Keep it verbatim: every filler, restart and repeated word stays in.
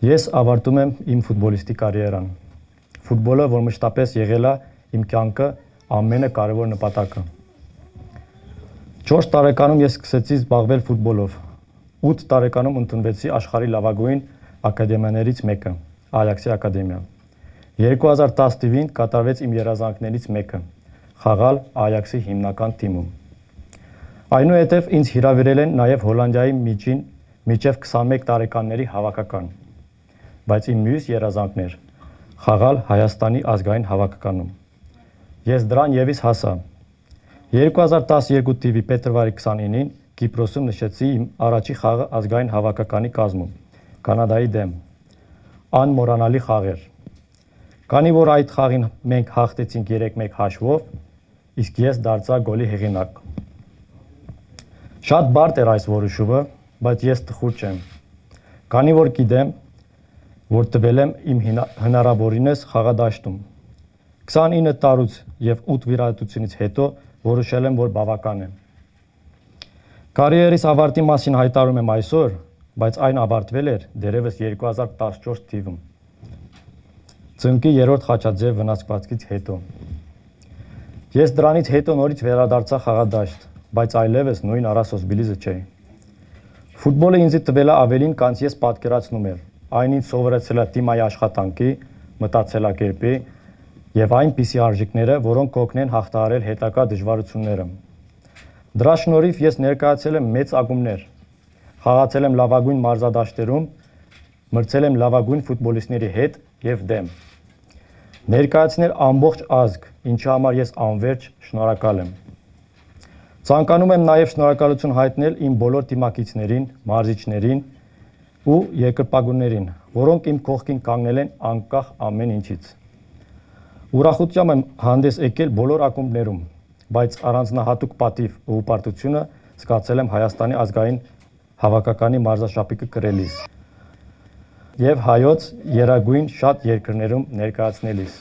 Ես ավարտում եմ իմ ֆուտբոլիստի կարիերան։ Ֆուտբոլը, որ մշտապես եղել է իմ կյանքը ամենակարևոր նպատակը։ չորս տարեկանում ես սկսեցի զբաղվել ֆուտբոլով։ ութ տարեկանում ընդունվեցի աշխարհի լավագույն ակադեմիաներից մեկը՝ Այաքսի ակադեմիա։ երկու հազար տասը թվականին կատարվեց իմ երազանքներից մեկը՝ խաղալ Այաքսի հիմնական թիմում։ Այնուհետև ինձ հրավիրել են նաև Հոլանդիայի միջին մինչև քսանմեկ տարեկանների հավաքական, բայց իմ մյուս երազանքն էր խաղալ Հայաստանի ազգային հավաքականում։ Ես դրան ևս հասա։ երկու հազար տասնյոթ թվականի փետրվարի քսանինին Կիպրոսում նշեցի իմ առաջի խաղը ազգային հավաքականի կազմում Կանադայի դեմ։ Անմոռանալի խաղ էր։ Քանի որ այդ խաղին մենք հաղթեցինք երեք մեկ հաշվով, իսկ ես դարձա գոլի հեղինակ։ Շատ բարդ էր այս որոշումը, բայց ես տխուր չեմ, քանի որ գիտեմ, որ տվել եմ իմ հնարավորինս խաղադաշտում։ քսանինը տարուց եւ ութ վիրահատությունից հետո որոշել եմ, որ բավական է։ Կարիերիս ավարտի մասին հայտարարում եմ այսօր, բայց այն ավարտվել էր դեռևս երկու հազար տասնչորս թվականին, ծնկի երրորդ խաչաձև վնասվածքից հետո։ Ես դրանից հետո նորից վերադարձա խաղադաշտ, բայց այլևս նույն Արասոս Բիլիզը չէի։ Ֆուտբոլը ինձ տվել է ավելին, քան ես պատկերացնում եմ։ Այն ինձ սովորեցրել է թիմային աշխատանքի, մտածելակերպի եւ այնպիսի արժեքները, որոնք կօգնեն հաղթահարել հետագա դժվարությունները։ Դրա շնորհիվ ես ներկայացել եմ մեծ ակումբներ, խաղացել եմ լավագույն մարզադաշտերում, մրցել եմ լավագույն ֆուտբոլիստների հետ եւ դեմ։ Ներկայացնել ամբողջ ազգ, ինչի համար ես անվերջ շնորհակալ եմ։ Ցանկանում եմ նաեւ շնորհակալություն հայտնել իմ բոլոր թիմակիցներին, մարզիչներին ու երկրպագուներին, որոնք իմ կողքին կանգնել են անկախ ամեն ինչից։ Ուրախությամբ եմ հանդես եկել բոլոր ակումբներում, բայց առանձնահատուկ պատիվ ու պարտությունը զգացել եմ Հայաստանի ազգային հավաքականի մարզաշապիկը կրելիս եւ հայոց երագույն շատ երկրներում ներկայացնելիս։